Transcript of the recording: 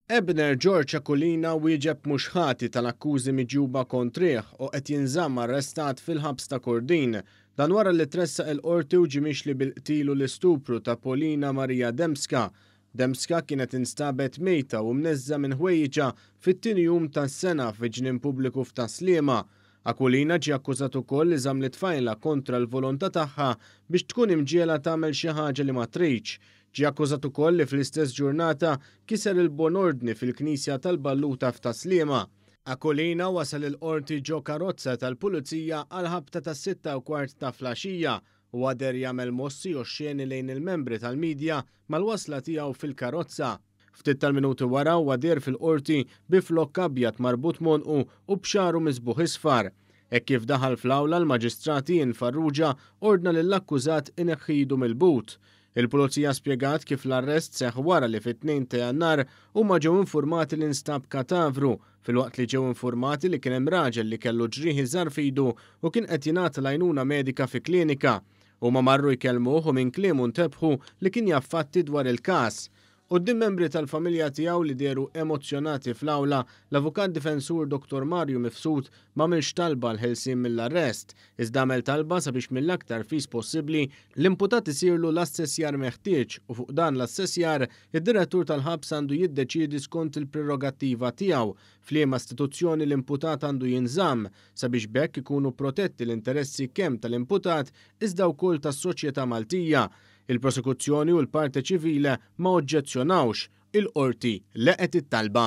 Ebner George Aquilina wieġeb mhux ħati tal-akkużi miġjuba kontrih u qed jinżamm arrestat fil-ħabs ta' Kordin. Dan wara li tressaq il-Qorti u ġie mixli bil-qtil u l-istupru ta' Polina Maria Dembska. Dembska kienet instabet mejta u mneżża' minn ħwejjiġha fit-tieni jum tas-sena fi ġnien pubbliku f'Tas-Sliema. Aquilina ġie akkużat ukoll li żamm lit-tfajla kontra l-volontà tagħha biex tkun imġiegħla tagħmel xi ħaġa li ma tridx. Ġie akkużat ukoll li fl-istess ġurnata kiser il-bon ordni fil-Knisja tal-Balluta f'Tas-Sliema. Aquilina wasal il-Qorti ġo karozza tal-Pulizija għall-ħabta tas-sitta u kwart ta' flaxija. Huwa deher jagħmel mossi oxxeni lejn il-membri tal-midja mal-wasla tiegħu fil-karozza. Ftit tal-minuti wara huwa deher fil-Qorti bi flokk abjad marbut m'għonqu u b'xagħru miżbugħ isfar. Hekk kif daħal fl-awla l-Maġistrat Ian Farrugia ordna lill-akkużat ineħħi idu mill-but. Il-Pulizija spjegat kif l-arrest seħħ wara li fit-2 ta' Jannar huma ġew infurmati li nstab katavru filwaqt li ġew infurmati li kien hemm raġel li kellu ġrieħi żgħar f'idu u kien qed jingħata l-għajnuna medika fi klinika. Huma marru jkellmuh u minn kliemu ntebħu li kien jaf fatti dwar il-każ. Quddiem membri tal-familja tiegħu li dehru emozzjonati fl-awla, l-avukat difensur Dottor Mario Mifsud m'għamilx talba għall-ħelsien mill-arrest, iżda għamel talba sabiex mill-aktar fis possibbli l-imputat isirlu l-assessjar meħtieġ u fuq dan l-assessjar id-direttur tal-ħabs għandu jiddeċiedi skont il-prerogattiva tiegħu f'liema istituzzjoni l-imputat għandu jinżamm sabiex b'hekk ikunu protetti l-interessi kemm tal-imputat iżda wkoll tas-soċjetà Maltija. Il-prosekuzzjoni u l-parte civile ma oġġezzjonawx. Il-Qorti leqgħet it-talba.